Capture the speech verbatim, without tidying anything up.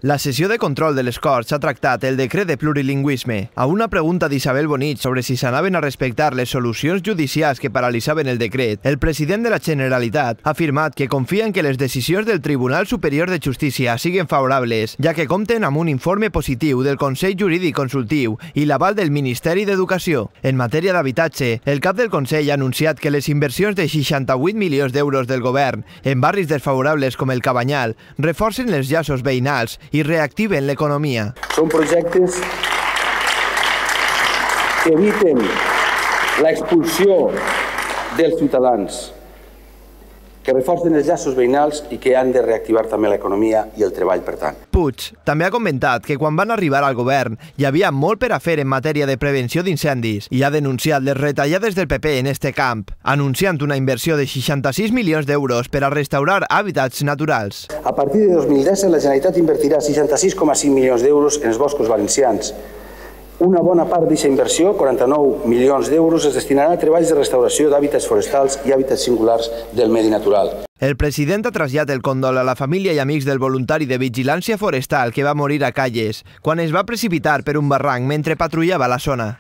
La sessió de control de les Corts ha tractat el decret de plurilingüisme. A una pregunta d'Isabel Bonich sobre si s'anaven a respectar les solucions judicials que paralitzaven el decret, el president de la Generalitat ha afirmat que confia en que les decisions del Tribunal Superior de Justícia siguin favorables, ja que compten amb un informe positiu del Consell Jurídic Consultiu i l'aval del Ministeri d'Educació. En matèria d'habitatge, el cap del Consell ha anunciat que les inversions de seixanta-vuit milions d'euros del govern en barris desfavorables com el Cabanyal reforcen els llaços veïnals i reactiven l'economia. Són projectes que eviten l'expulsió dels ciutadans, que reforcen els llaços veïnals i que han de reactivar també l'economia i el treball, per tant. Puig també ha comentat que quan van arribar al govern hi havia molt per a fer en matèria de prevenció d'incendis i ha denunciat les retallades del P P en este camp, anunciant una inversió de seixanta-sis milions d'euros per a restaurar hàbitats naturals. A partir de dos mil disset, la Generalitat invertirà seixanta-sis coma cinc milions d'euros en els boscos valencians. Una bona part d'aquesta inversió, quaranta-nou milions d'euros, es destinarà a treballs de restauració d'hàbitats forestals i hàbitats singulars del medi natural. El president ha traslladat el condol a la família i amics del voluntari de vigilància forestal que va morir a Calles quan es va precipitar per un barranc mentre patrullava la zona.